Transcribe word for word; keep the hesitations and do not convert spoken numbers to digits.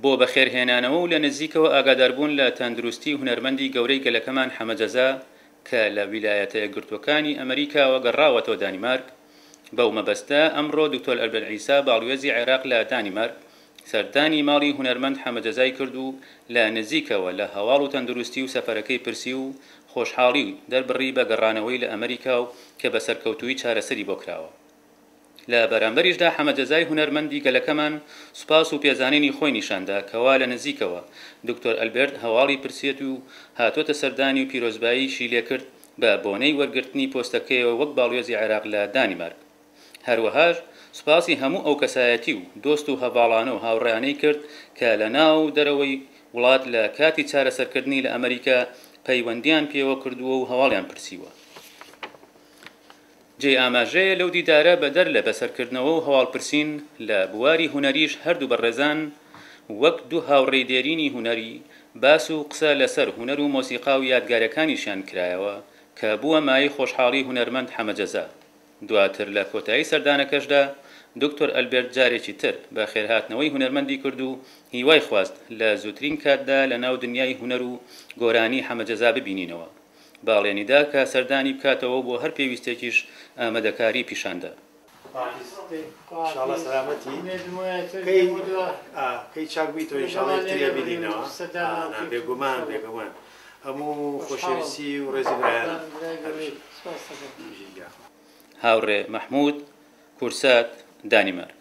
بۆ بەخێرهێنانەوە و لە نزیکەوە ئاگاداربوون لە تەندروستی هونەرمەندی گەورەی گەلەکەمان حەمە جەزا کە لە ویلایەتە یەکگرتووەکانی ئەمریکاوە گەڕاوەتەوە دانیمارک، بەو مەبەستە ئەمڕۆ دکتۆر ئەلبێرت عیسا باڵوێزی عێراق لە دانیمارک سەردانی ماڵی هونەرمەند حەمە جەزای کرد و لە نزیکەوە لە هەواڵ و تەندروستی و سەفەرەکەی پرسی و خۆشحاڵی دەربڕی بە گەڕانەوەی لە ئەمریکا و کە بە سەرکەوتوویی چارەسەری بۆ کراوە. لە بەرامبەریشدا حەمە جەزای هونەرمەندی گەلەکەمان سوپاس و پێزانینی خۆی نیشاندا کەوا لە نزیکەوە دکتۆر ئەلبێرت هەواڵی پرسیەت و هاتۆتە سەردانی و پیرۆزباییشی لێکرد بە بۆنەی وەرگرتنی پۆستەکەیەوە وەک باڵوێزی عێراق لە دانیمارک. هەروەهاش سوپاسی هەموو ئەو کەسایەتی و دۆست و هەڤاڵانە و هاوڕێیانەی کرد کە لە ناو دەرەوەی وڵات لە کاتی چارەسەرکردنی لە ئەمریکا پەیوەندیان پێوە کردووە و هەواڵیان پرسیوە. جێی ئاماژەیە لەو دیدارە بەدەر لە بەسەرکردنەوە و هەواڵپرسین لە بواری هونەریش هەردوو بەڕێزان وەک دوو هاوڕێی دێرینی هونەری باس و قسە لەسەر هونەر و مۆسیقا و یادگارەکانیشیان کرایەوە کە بووە مایەی خۆشحاڵی هونەرمەند حەمە جەزا. دواتر لە کۆتایی سەردانەکەشدا دکتۆر ئەلبێرت جارێکی تر بە خێرهاتنەوەی هونەرمەندی کرد و هیوای خواست لە زووترین کاتدا لە ناو دنیای هونەر و گۆرانی حەمە جەزا ببینینەوە. بەڵێنیدا کە سەردانی بکاتەوە بۆ هەر پێویستێکیش ئامادەکاری پیشاندا. ئینشاڵڵا سەلامەتی کەی کەی چاک بیتەوە ئینشاڵڵا یەکتریا بینینەوە. بێگومان بێگومان هەموو خۆشەویستی و ڕێزی برایانە. هاوڕێ مەحموود، کورسات، دانیمارک.